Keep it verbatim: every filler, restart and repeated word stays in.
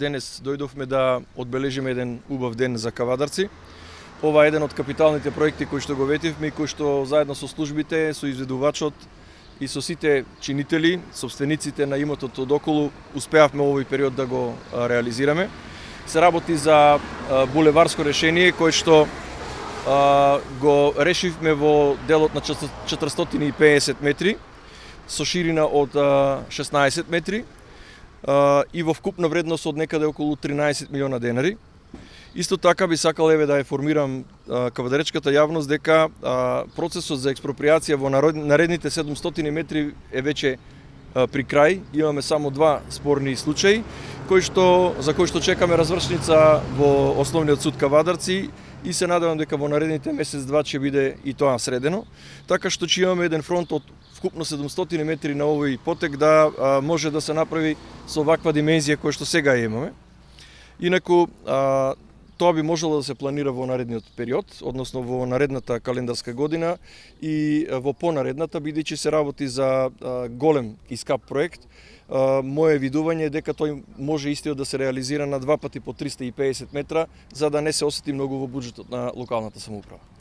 денес дојдовме да одбележиме еден убав ден за кавадарци. Ова е еден од капиталните проекти кои што го ветивме и кои што заедно со службите, со изведувачот и со сите чинители, собствениците на имотот одоколу, успеавме овој период да го реализираме. Се работи за булеварско решение кое што го решивме во делот на четиристотини и педесет метри со ширина од шеснаесет метри и во вкупна вредност од некаде околу тринаесет милиона денари. Исто така би сакал еве да информирам кавадаречката јавност дека процесот за експроприација во наредните седумстотини метри е веќе при крај. Имаме само два спорни случаи кои што за кои што чекаме развршница во Основниот суд Кавадарци и се надевам дека во наредните месец-два ќе биде и тоа средено, така што ќе имаме еден фронт од вкупно седумстотини метри на овој потек да а, може да се направи со ваква димензија која што сега имаме. Инаку а, тоа би можело да се планира во наредниот период, односно во наредната календарска година и во понаредната, бидејќи се работи за а, голем и скап проект. Uh, Моje видување е дека тој може истиот да се реализира на два пати по триста и педесет метра, за да не се осети многу во буџетот на локалната самоуправа.